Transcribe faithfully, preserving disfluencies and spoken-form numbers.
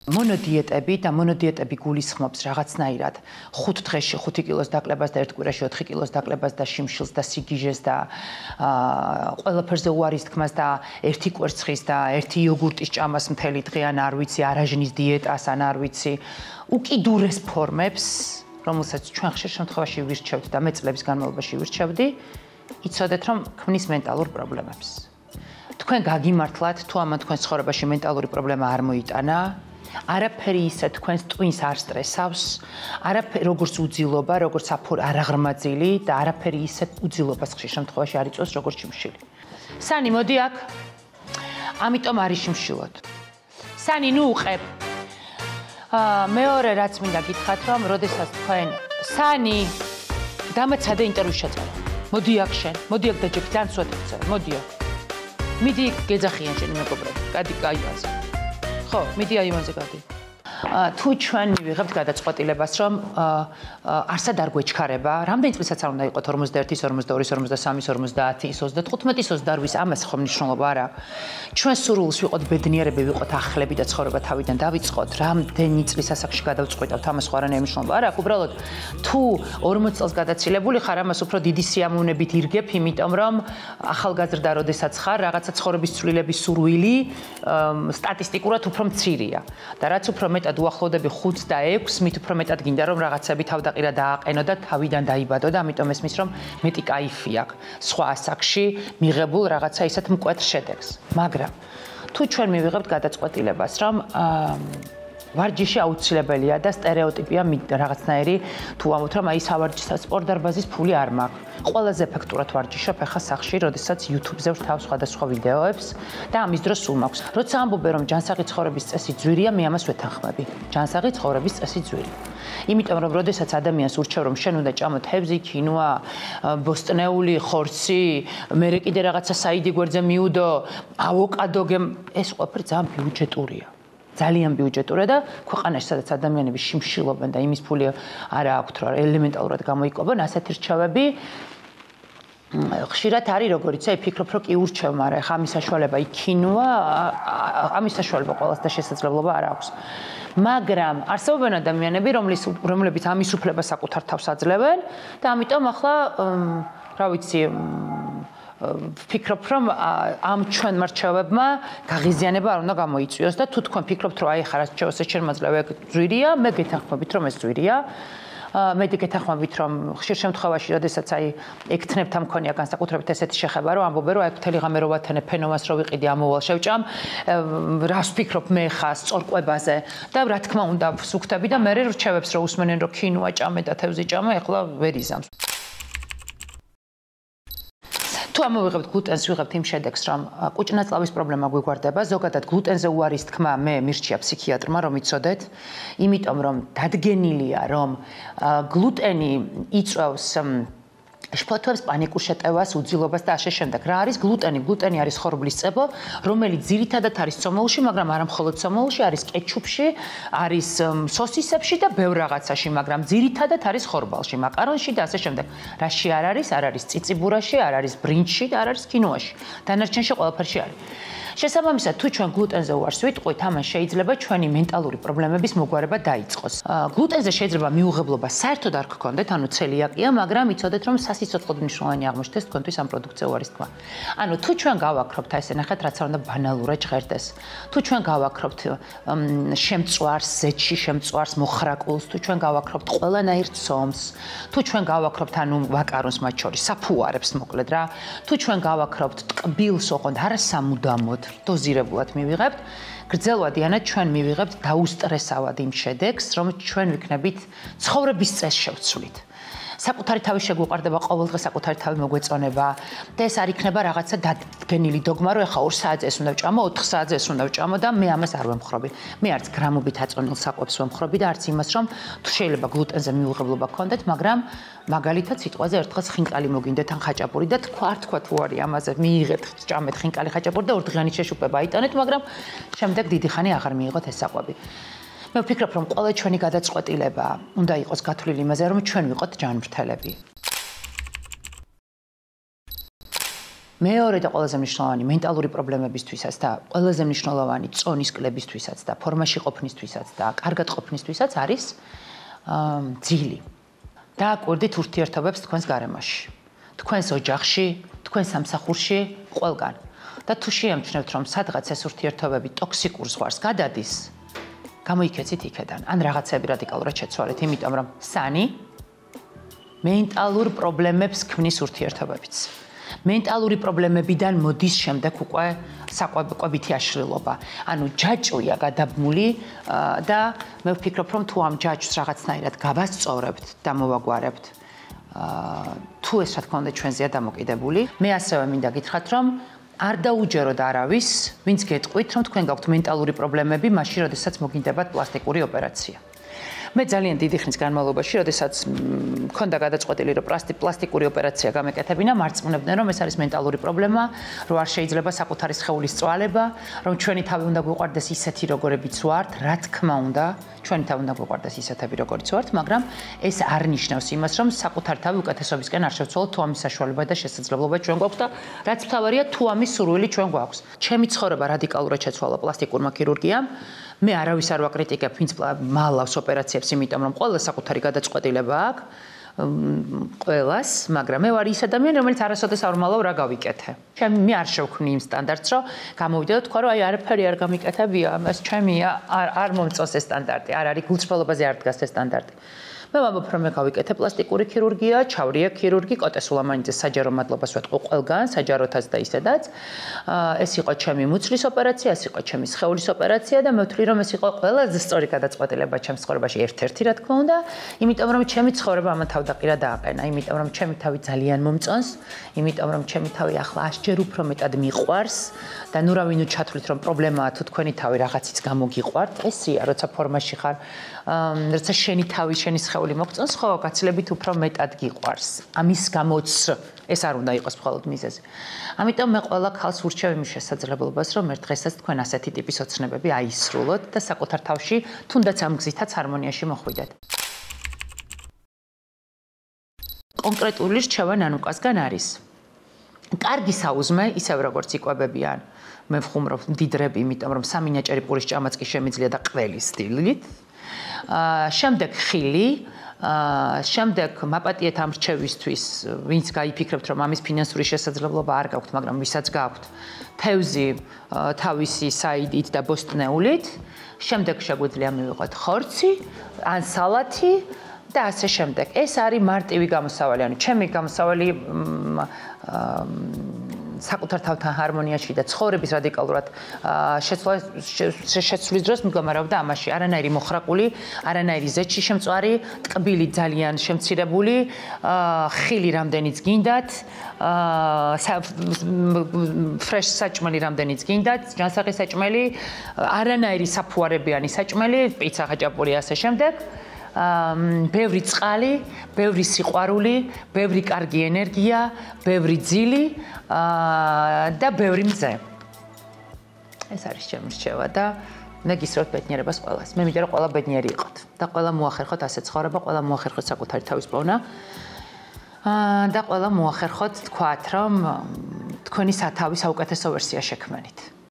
მონოდიეტები და მონოდიეტები გულისხმობს რაღაცნაირად ხუთ დღეში ხუთი კილოს დაკლებას და ერთ კვირაში ოთხი კილოს დაკლებას და შიმშილს და სიგიჟეს და ყველაფერზე უარის თქმას და ერთი კვერცხის და ერთი იოგურტის ჭამას მთელი დღე ან არ ვიცი არაჟნის დიეტას ან არ ვიცი უკიდურეს ფორმებს რომელსაც ჩვენ ხშირ შემთხვევაში ვირჩევთ და მე წლების განმავლობაში ვირჩევდი იცოდეთ რომ ქმნის მენტალურ პრობლემებს თქვენ გაგიმართლათ თუ ამან თქვენ ცხოვრებაში მენტალური პრობლემა არ მოიტანა არაფერი ისე თქვენს ტვინს არ სტრესავს, არაფერი როგორც უძილობა, როგორც არაღრმაძილი და არაფერი ისე უძილობას ხშირ შემთხვევაში არ იწვევს როგორც შიმშილი. სანი, მოდი აქ. ამიტომ არის შიმშილოთ. სანი, ნუ უყებ. აა მეორე რაც მინდა გითხრათ, რომ როდესაც თქვენ სანი დამაცადე ინტერვიუს შეწერა. მოდი აქ შენ, მოდი აქ დაჯექი, ძალიან სვეტად წერა, მოდი აქ. მიდი გეძახიან შენი მეგობრები, გადი გაივაზე. ხო, მიდი აივანზე გადი. თუ ჩვენ მივიღებთ გადაწყვეტილებას, რომ არსად არ გვეჩქარება, რამდენი წლისაც არ უნდა იყოთ ორმოცდაერთის, ორმოცდაორის, ორმოცდასამის, ორმოცდაათის, ოცდათხუთმეტის, ოცდაოთხის, ამას ხომ მნიშვნელობა არა. ჩვენ სურვილს ვიყოთ ბედნიერები, ვიყოთ ახლები და ცხოვრება თავიდან დავიწყოთ, რამდენი წლის ასაკში გადავწყვიტავთ, ამას ხო არანაირი მნიშვნელობა არა. უბრალოდ თუ ორმოც წელს გადაცილებული ხარ, ამას უფრო დიდი სიამოვნებით ირგებ, იმიტომ რომ ახალგაზრდა როდესაც ხარ, რაღაცა ცხოვრების ცვლილების სურვილი სტატისტიკურად უფრო მცირეა. და რაც უფრო მეტად უახლოვდები ხუთს და ექვსს, მით უფრო მეტად გინდა რომ რაღაცები თავდაყირა დააყენო და თავიდან დაიბადო და ამიტომ ესმის რომ მეტი кайფი აქვს სხვა ასაკში მიღებულ რაღაცა ისეთ მკვეთრ შედეგს. მაგრამ თუ ჩვენ მივიღებთ გადაწყვეტილებას, რომ ვარჯიში აუცილებელია და სტერეოტიპია რაღაცნაირი თუ ამოთ რომ აი სავარჯიშო სპორტ დარბაზის ფული არ მაქვს. ყველაზე ეფექტურად ვარჯიშობ ახლა სახში, როდესაც YouTube-ზე ვთავ სხვადასხვა ვიდეოებს და ამის დროს სულ მაქვს. როცა ამბობენ რომ ჯანსაღი ცხოვრების წესი ძვირია, მე ამას ვეთანხმები. ჯანსაღი ცხოვრების წესი ძვირი. იმიტომ რომ როდესაც ადამიანს ურჩევ რომ შენ უნდა ჭამო თევზი, ქინვა, ბოსტნეული, ხორცი, მერე კიდე რაღაცა საიდი გვერდზე მიუდო, ავოკადო, ეს ყველაფერი ძალიან ბიუჯეტურია. ძალიან ბიუჯეტურია და ქვეყანაში სადაც ადამიანები შიმშილობენ და იმის ფული არა აქვთ რომ ელემენტალურად გამოიკვებონ ასეთი რჩევები ხშირად არის როგორც იცი ფიქრობ რომ კი ურჩევ მაგრამ ხა ამის საშუალება იქინვა ამის საშუალება ყოველს და შესაძლებლობა არ აქვს მაგრამ არსებობენ ადამიანები რომლის რომლებიც ამის უფლებას საკუთარ თავს აძლევენ და ამიტომ ახლა რა ვიცი ვფიქრობ რომ ამ ჩვენ მრჩევებმა გაღიზიანება არ უნდა გამოიწვიოს და თუ თქვენ ფიქრობთ რომ აი ხარ რჩევას შეშერმაძლევ ეგ ძვირია მე გეთანხმებით რომ ეს ძვირია მე გეთანხმებით რომ ხშირ შემთხვევაში როდესაც აი ექთნებთან მქონია განსაკუთრებით ესეთი შეხება რომ ამბობენ რომ აი მთელი ღამე რო ვათანე ფენომას რო ვიყიდი ამოვალ შევჭამ რას ვფიქრობ მე ხა სწორკვებაზე და რა თქმა უნდა ვსუქთები და მე რჩევებს რო უსმენენ რომ ქინვა ჭამე და თევზი ჭამე ახლა ვერ იზამს თუ ამოვიღებთ გლუტენს, ვიღებთ იმ შედეგს, რომ კუჭნაწლავის პრობლემა გვიგვარდება, ზოგადად გლუტენზე უარის თქმა მე მირჩია ფსიქიატრმა, რომ იცოდეთ, იმიტომ რომ დადგენილია, რომ გლუტენი იწვევს შფოთვებს, პანიკურ შეტევას, უძილობას და ასე შემდეგ. რა არის გლუტენი? გლუტენი არის ხორბლის წებო, რომელიც ძირითადად არის ცომოლში, მაგრამ არა მხოლოდ ცომოლში, არის კეჩუპში, არის სოსისებში და ბევრ რაღაცაში, მაგრამ ძირითადად არის ხორბალში, მაკარონში და ასე შემდეგ. რაში არ არის? არ არის წიწიბურაში, არ არის ბრინჯში და არ არის კინოაში. დანარჩენში ყველაფერში არის. შესაბამისად, თუ ჩვენ გლუტენზე უარს ვიტყვით, ამან შეიძლება ჩვენი მენტალური პრობლემების მოგვარება დაიწყოს. გლუტენზე შეიძლება მიუღებლობა საერთოდ არ გქონდეთ, ანუ ცელიაკია, მაგრამ იცოდეთ, რომ სასიცოცხლოდ მნიშვნელოვანი აღმოჩნდეს თქვენთვის ამ პროდუქტზე უარის თქმა. ანუ თუ ჩვენ გავაქრობთ, აი ესე ნახეთ, რაც არ უნდა ბანალურად ჟღერდეს. თუ ჩვენ გავაქრობთ შემწვარს, ზეთში შემწვარს, მოხრაკულს, თუ ჩვენ გავაქრობთ ყველანაირ ცომს, თუ ჩვენ გავაქრობთ ანუ ვაკარონს მათ შორის, საფუარებს მოკლედ რა. თუ ჩვენ გავაქრობთ ტკბილს, ოღონდ არა სამუდამოდ დოზირებულად მივიღებთ, გრძელვადიანად ჩვენ მივიღებთ დაუსტრესავად იმ შედეგს, რომ ჩვენ ვიქნებით ცხოვრების წესს შევცვლით. საკუთარი თავი შეგვიყვარდება, ყოველდღე საკუთარი თავი მოგვეწონება და ეს არ იქნება რაღაცა დადგენილი დოგმა, რომ ეხა ორ საათზე ეს უნდა ვჭამო, ოთხ საათზე ეს უნდა ვჭამო და მე ამას არ ვემხრობი. მე არც გრამობით აწონილ საკვებს ვემხრობი და არც იმას, რომ თუ შეიძლება გლუტენზე მიუღებლობა გქონდეთ, მაგრამ მაგალითად სიტყვაზე ერთხელ ხინკალი მოგინდეთ ან ხაჭაპური და თქვა არ თქვა თუ არის ამაზე მიიღეთ, ჭამეთ ხინკალი ხაჭაპური და ორდღიანი შეშუპება აიტანეთ, მაგრამ შემდეგ დიდი ხანი აღარ მიიღოთ ეს საკვები. მე ვფიქრობ, რომ ყველა ჩვენი გადაწყვეტილება უნდა იყოს გათვლილი იმაზე, რომ ჩვენ ვიყოთ ჯანმრთელები. მეორე და ყველაზე მნიშვნელოვანი მენტალური პრობლემებისთვისაც და ყველაზე მნიშვნელოვანი წონის კლებისთვისაც და ფორმაში ყოფნისთვისაც და კარგად ყოფნისთვისაც არის ძილი. დააკვირდით ურთიერთობებს თქვენს გარემოში, თქვენს ოჯახში, თქვენს სამსახურში, ყველგან. და თუ შეამჩნევთ, რომ სადღაც ეს ურთიერთობები ტოქსიკურ ზღვარს გადადის, გამოიქეცით იქედან, ან რაღაცები რადიკალურად შეცვალეთ, იმიტომ რომ სანი მენტალურ პრობლემებს ქმნის ურთიერთობებიც. მენტალური პრობლემებიდან მოდის შემდეგ უკვე საკვებითი აშლილობა. ანუ ჯაჭვია გადაბმული და მე ვფიქრობ, რომ თუ ამ ჯაჭვს რაღაცნაირად გავასწორებთ და მოვაგვარებთ, თუ ეს რა თქმა უნდა ჩვენზეა დამოკიდებული, მე ასევე მინდა გითხრათ, რომ არ დაუჯეროთ არავის, ვინც გეტყვით, რომ თქვენ გაქვთ მენტალური პრობლემები, მაშინ, როდესაც მოგინდებათ პლასტიკური ოპერაცია. მე ძალიან დიდი ხნის განმავლობაში, როდესაც მქონდა გადაწყვეტილი, რომ პლასტიკური ოპერაცია გამეკეთებინა, მარწმუნებდნენ, რომ ეს არის მენტალური პრობლემა, რომ არ შეიძლება საკუთარი სხეულის წვალება, რომ ჩვენი თავი უნდა გვიყვარდეს ისეთი, როგორებიც ვართ, რა თქმა უნდა, ჩვენი თავი უნდა გვიყვარდეს ისეთები, როგორიც ვართ, მაგრამ ეს არ ნიშნავს იმას, რომ საკუთარი თავი უკეთესობისკენ არ შევცვალოთ, თუ ამის საშუალება და შესაძლებლობა ჩვენ გვაქვს და რაც მთავარია, თუ ამის სურვილი ჩვენ გვაქვს. ჩემი ცხოვრება რადიკალურად შეცვალა პლასტიკურმა ქირურგიამ. მე არავის არ ვაკრიტიკებ, ვინც მალავს ოპერაციებს, იმიტომ რომ ყველა საკუთარი გადაწყვეტილება აქვს, ყველას, მაგრამ მე ვარ ის ადამიანი, რომელიც არასოდეს არ ვმალავ რა გავიკეთე. ჩემი მე არ შევქმნი იმ სტანდარტს, რომ გამოვიდე და თქვა, რომ აი არაფერი არ გამიკეთებია, ეს ჩემია, არ არ მომწონს ეს სტანდარტი, არ არის გულწრფელობაზე არ დგას ეს სტანდარტი. მე ვამბობ, რომ მე გავიკეთე პლასტიკური ქირურგია, ჩავრია ქირურგი, კოტე სულამანიძეს საჯარო მადლობას ვეთყო ყველგან, საჯაროთაც და ისედაც. ეს იყო ჩემი მუცლის ოპერაცია, ეს იყო ჩემი სხეულის ოპერაცია და მე ვთვლი, რომ ეს იყო ყველაზე სწორი გადაწყვეტილება ჩემს ცხოვრებაში ერთ-ერთი, რა თქმა უნდა, იმიტომ რომ ჩემი ცხოვრება ამან თავდაყირა დააყენა, იმიტომ რომ ჩემი თავი ძალიან მომწონს, იმიტომ რომ ჩემი თავი ახლა ასჯერ უფრო მეტად მიყვარს და ნუ რა ვინო ჩათვლით, რომ პრობლემაა თუ თქვენი თავი რაღაცის გამო გიყვართ, ესია, როცა ფორმაში ხარ, როცა შენი თავი, შენი სხეული მოგწონს, ხო, გაცილებით უფრო მეტად გიყვარს. ამის გამოც ეს არ უნდა იყოს მხოლოდ მიზეზი. ამიტომ მე ყველა ქალს ვურჩევ იმის შესაძლებლობას, რომ ერთ დღესაც თქვენ ასეთი ტიპის ოცნებები აისრულოთ და საკუთარ თავში თუნდაც ამ გზითაც ჰარმონიაში მოხვიდეთ. კონკრეტული რჩევა ნანუკასგან არის. კარგი საუზმე, ისევ როგორც იკვებებიან, მე ვხუმრობ მდიდრები, იმიტომ რომ სამი ნაჭერი პურის ჭამაც კი შემიძლია და ყველის სტილით. შემდეგ ხილი, შემდეგ მაპატიეთ ამ რჩევისთვის, ვინც გაიფიქრებთ, რომ ამის ფინანსური შესაძლებლობა არ გაქვთ, მაგრამ ვისაც გაქვთ, თევზი თავისი საიდით და ბოსტნეულით, შემდეგ შეგვიძლია მივიღოთ ხორცი, ან სალათი და ასე შემდეგ. ეს არის მარტივი გამოსავალი, ანუ ჩემი გამოსავალი საკუთარ თავთან ჰარმონიაში და ცხოვრების რადიკალურად შეცვლის დროს მდგომარეობდა ამაში. არანაირი მოხრაკული, არანაირი ზეჩი შემწვარი, ტკბილი ძალიან შემცირებული, ხილი რამდენიც გინდათ, ფრეშ საჭმელი რამდენიც გინდათ, ჯანსაღი საჭმელი, არანაირი საფუარებიანი საჭმელი, პიცა, ხაჭაპური ასე შემდეგ. ბევრი წყალი, ბევრი სიყვარული, ბევრი კარგი ენერგია, ბევრი ძილი და ბევრი მზე. ეს არის ჩემი რჩევა და მე გისურვებთ ბედნიერებას ყველას. მე მინდა რომ ყველა ბედნიერი იყოთ და ყველა მოახერხოთ ასე ცხოვრება, ყველა მოახერხოთ საკუთარი თავის პოვნა და ყველა მოახერხოთ თქვათ, რომ თქვენი სათავის საუკეთესო ვერსია შექმნით.